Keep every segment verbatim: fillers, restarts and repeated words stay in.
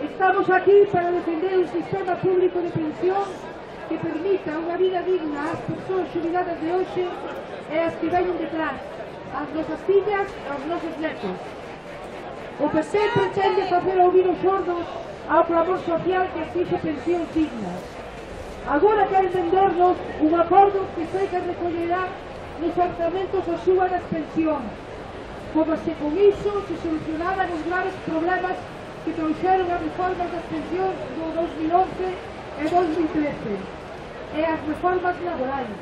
Estamos aquí para defender un sistema público de pensión que permita unha vida digna ás persoas xubiladas de hoxe e as que veñen detrás, ás nosas fillas e aos nosos netos. O P P pretende facer ouvir os sordos ao clamor social que exixe pensións dignas. Agora queren vendernos un acordo que sei que recollerá nos orzamentos a suba das pensións, como se con iso se solucionaran os graves problemas que trouxeron as reformas das pensións do dos mil once e dos mil trece, e as reformas laborais,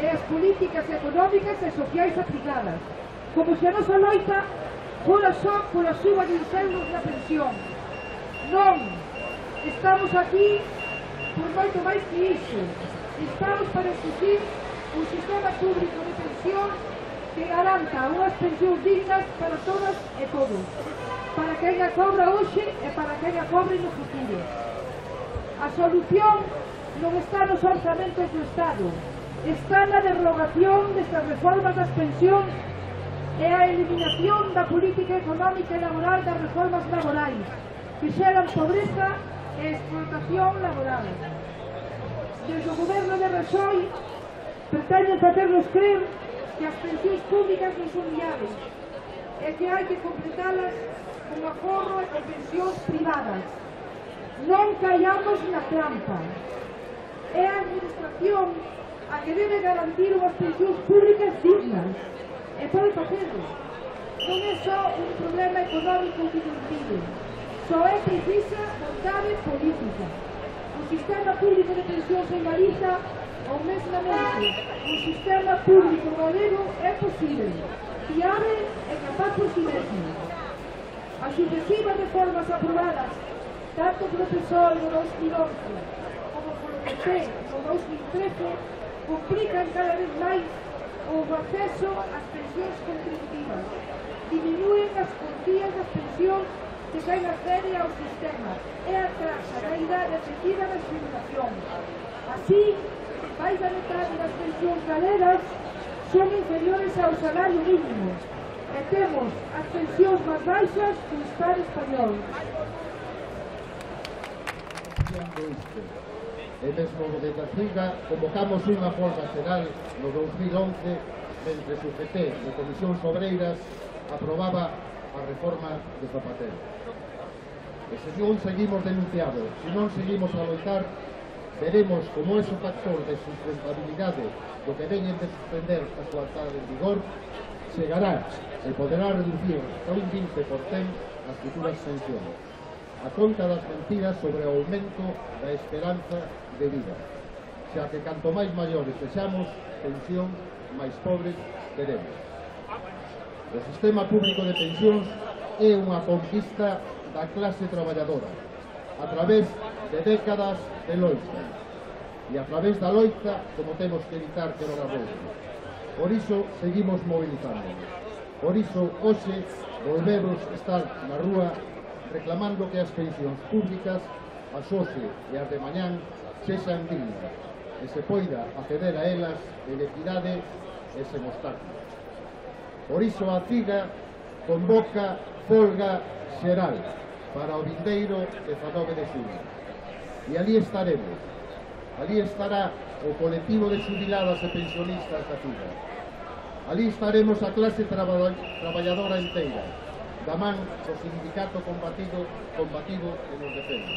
e as políticas económicas e sociais aplicadas, como se a nosa loita fora só pola suba de uns euros na pensión. Non, estamos aquí por moito máis que iso. Estamos para exigir un sistema público de pensión que garanta unhas pensións dignas para todas e todos, para quen a cobra hoxe e para quen a cobre no futuro. A solución non está nos orzamentos do Estado, está na derrogación destas reformas das pensións e a eliminación da política económica e laboral das reformas laborais, que xeran pobreza e explotación laboral. Desde o goberno de Rajoy pretenden facernos crer que as pensións públicas non son viables e que hai que completalas con aforro e con pensións privadas. Non caiamos na trampa. É a administración a que debe garantir unhas pensións públicas dignas e pode facelo. Non é só un problema económico que nos impide, só é precisa vontade política. O sistema público de pensións en Galiza, ou mesmamente o sistema público galego, é posible, fiable e capaz por si mesmo. As sucesivas reformas aprobadas tanto polo P S O E no dos mil once como polo P P no dos mil trece complican cada vez máis o acceso ás pensións contributivas, diminúen as cuantías das pensións que caen accede ao sistema e atrasa da idade efectiva da xubilación. Así, máis da metade das pensións galegas son inferiores ao salario mínimo e temos as pensións máis baixas do Estado español. E mesmo desde a Ciga convocamos unha folga xeral no dos mil once mentre o P P de Comisións Obreiras aprobaba a reforma de Zapatero. E se non seguimos denunciados, se non seguimos a loitar, veremos como ese factor de sustentabilidade do que veñen de suspender a súa entrada en vigor chegará e poderá reducir a un vinte por cento as futuras pensións, a conta das mentiras sobre o aumento da esperanza de vida, xa que canto máis maiores sexamos, pensión máis pobres teremos. O sistema público de pensións é unha conquista da clase traballadora, a través de décadas de loita, e a través da loita como temos que evitar que non a volve. Por iso seguimos movilizándonos, por iso hoxe volvemos estar na rúa reclamando que as pensións públicas, as hoxe e as de mañán, sexan dignas e se poida acceder a elas en equidade e sen obstáculos. Por iso a Ciga convoca folga xeral para o vindeiro dezanove de xullo. E ali estaremos. Ali estará o colectivo de xubiladas e pensionistas da Ciga. Ali estaremos a clase traba traballadora inteira, da man do sindicato combatido, combativo que nos defende.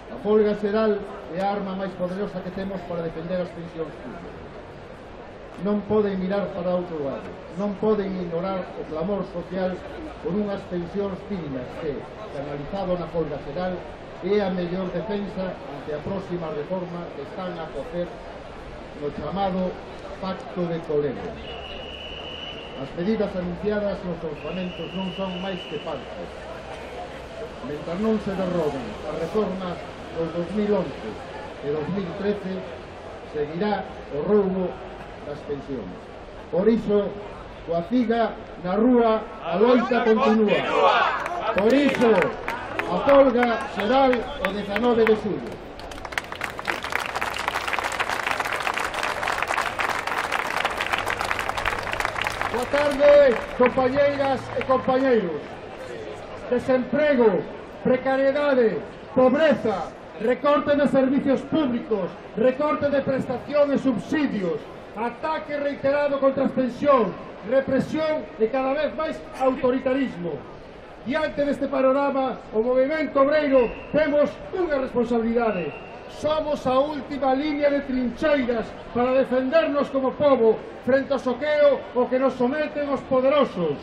A folga xeral é a arma máis poderosa que temos para defender as pensións públicas. Non poden mirar para outro lado, non poden ignorar o clamor social por unhas pensións dignas que, canalizado na folga xeral, é a mellor defensa ante a próxima reforma que están a cocer no chamado Pacto de Toledo. As medidas anunciadas nos orzamentos non son máis que falsas. Mentre non se derroben as reformas dos dos mil once e dos mil trece, seguirá o roubo das pensións. Por iso, coa CIGA na rúa a loita continúa. Por iso, a folga xeral o dezanove de xullo. Boa tarde, compañeiras e compañeiros. Desemprego, precariedade, pobreza, recorte de servicios públicos, recorte de prestación e subsidios, ataque reiterado contra as pensións, represión e cada vez máis autoritarismo. Diante deste panorama, o movimento obreiro temos unha responsabilidade. Somos a última línea de trincheiras para defendernos como povo frente ao soqueo o que nos someten os poderosos.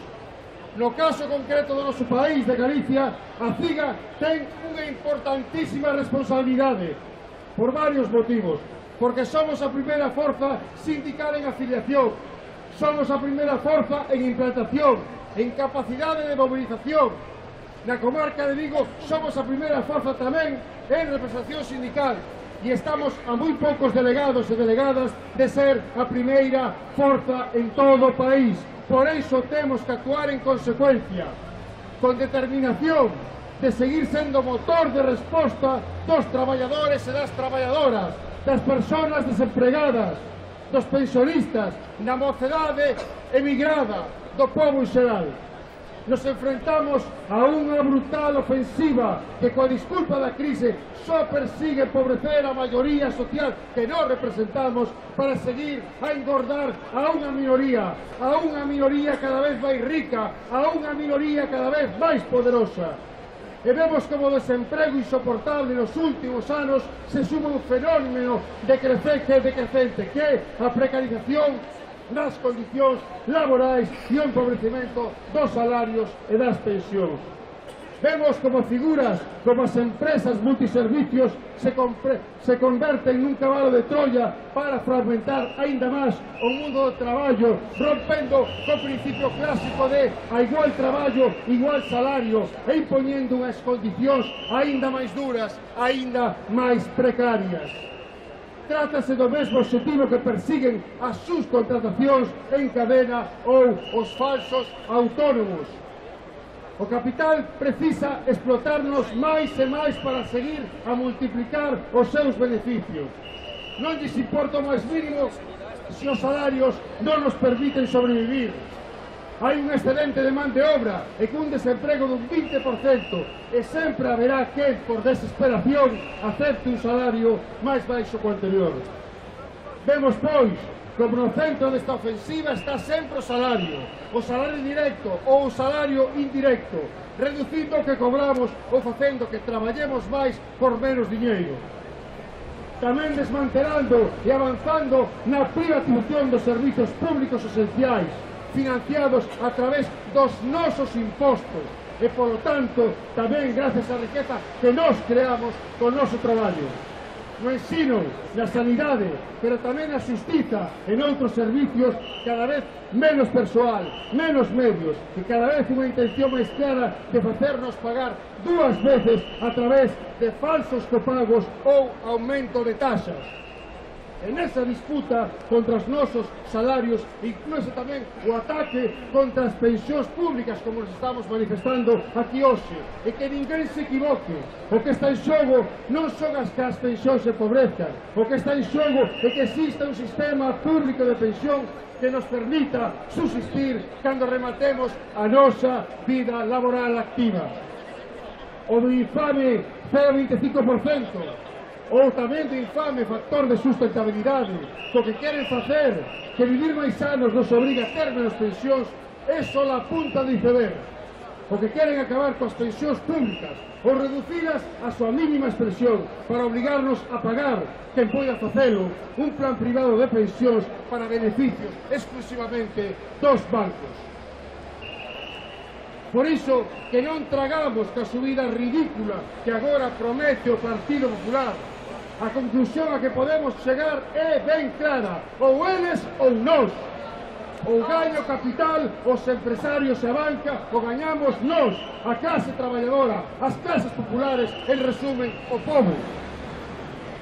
No caso concreto do noso país, de Galicia, a CIGA ten unha importantísima responsabilidade por varios motivos. Porque somos a primeira forza sindical en afiliación, somos a primeira forza en implantación, en capacidade de movilización. Na comarca de Vigo somos a primeira forza tamén en representación sindical e estamos a moi poucos delegados e delegadas de ser a primeira forza en todo o país. Por iso temos que actuar en consecuencia, con determinación de seguir sendo motor de resposta dos traballadores e das traballadoras, das persoas desempregadas, dos pensionistas, da mocedade emigrada, do povo en xeral. Nos enfrentamos a unha brutal ofensiva que, coa disculpa da crise, só persigue empobrecer a maioría social que non representamos para seguir a engordar a unha minoría, a unha minoría cada vez máis rica, a unha minoría cada vez máis poderosa. E vemos como o desemprego insoportable nos últimos anos se suma un fenómeno de crecente, de crecente, que é a precarización das condicións laborais e o empobrecimento dos salarios e das pensións. Vemos como figuras como as empresas multiservicios se, se converten nun cabalo de Troya para fragmentar aínda máis o mundo do traballo, rompendo co principio clásico de a igual traballo, igual salario e impoñendo unhas condicións aínda máis duras, aínda máis precarias. Trátase do mesmo objetivo que persiguen as subcontratacións en cadena ou os falsos autónomos. O capital precisa explotarnos máis e máis para seguir a multiplicar os seus beneficios. Non lles importa o máis mínimo se os salarios non nos permiten sobrevivir. Hai un excedente de man de obra e cun desemprego dun vinte por cento e sempre haberá quen, por desesperación, acepte un salario máis baixo que o anterior. Vemos, pois, como no centro desta ofensiva está sempre o salario, o salario directo ou o salario indirecto, reducindo o que cobramos ou facendo que traballemos máis por menos diñeiro. Tamén desmantelando e avanzando na privatización dos servizos públicos esenciais, financiados a través dos nosos impostos e, polo tanto, tamén gracias á riqueza que nós creamos con o noso traballo. No ensino, na sanidade, pero tamén na xustiza e noutros servicios, cada vez menos persoal, menos medios e cada vez unha intención máis clara de facernos pagar dúas veces a través de falsos copagos ou aumento de taxas. En esa disputa contra os nosos salarios incluíse tamén o ataque contra as pensións públicas, como nos estamos manifestando aquí hoxe, e que ninguén se equivoque. O que está en xogo non son as que as pensións se empobrezcan, o que está en xogo é que exista un sistema público de pensión que nos permita subsistir cando rematemos a nosa vida laboral activa. O do infame cero vinte e cinco por cento, ou tamén do infame factor de sustentabilidade, co que queren facer que vivir máis anos nos obriga a ter menos pensións, é só a punta do iceberg. O que queren acabar coas pensións públicas ou reducilas a súa mínima expresión para obligarnos a pagar, quen poida facelo, un plan privado de pensións para beneficios exclusivamente dos bancos. Por iso que non tragamos ca subida ridícula que agora promete o Partido Popular. A conclusión a que podemos chegar é ben clara, ou eles ou nós. Ou gaño capital, os empresarios e a banca, ou gañamos nós, a clase traballadora, as clases populares, en resumen, o povo.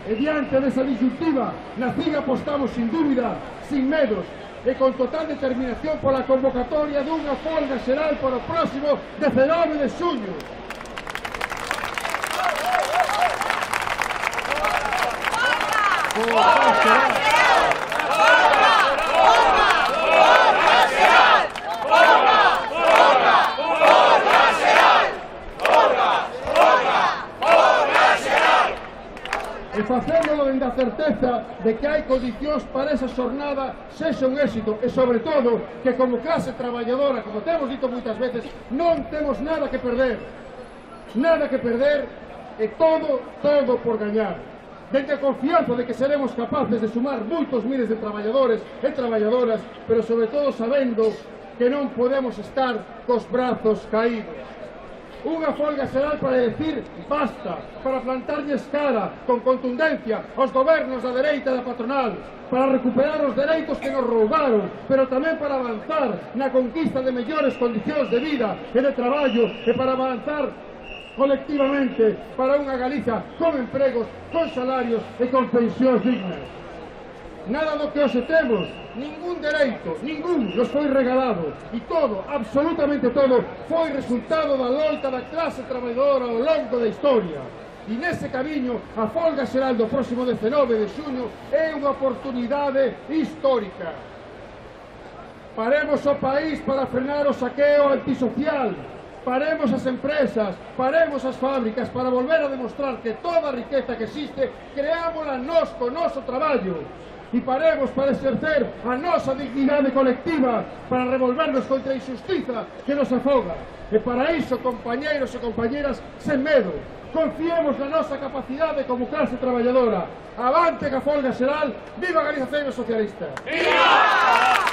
E diante desa disyuntiva, na C I G apostamos sin dúbida, sin medos, e con total determinación pola convocatoria dunha folga xeral para o próximo dezanove de xuño. Folga xeral! E facéndolo dende a certeza de que hai condicións para esa xornada sexa un éxito e, sobre todo, que como clase traballadora, como temos dito moitas veces, non temos nada que perder. Nada que perder e todo, todo por gañar. Dende a confianza de que seremos capaces de sumar moitos miles de traballadores e traballadoras, pero sobre todo sabendo que non podemos estar cos brazos caídos. Unha folga xeral para decir basta, para plantarlles cara con contundencia aos gobernos da dereita e da patronal, para recuperar os dereitos que nos roubaron, pero tamén para avanzar na conquista de mellores condicións de vida e de traballo e para avanzar colectivamente para unha Galiza con empregos, con salarios e con pensións dignas. Nada do que hoxe temos, ningún dereito, ningún nos foi regalado e todo, absolutamente todo, foi resultado da loita da clase traballadora ao longo da historia. E nese camiño, a folga xeral do próximo dezanove de xuño é unha oportunidade histórica. Paremos o país para frenar o saqueo antisocial, paremos as empresas, paremos as fábricas para volver a demostrar que toda a riqueza que existe creámola nós co noso traballo. E paremos para exercer a nosa dignidade colectiva, para revolvernos contra a injustiza que nos afoga. E para iso, compañeiros e compañeras, sen medo, confiemos na nosa capacidade como clase traballadora. Avante que a folga xeral, viva a Galiza Socialista! ¡Viva!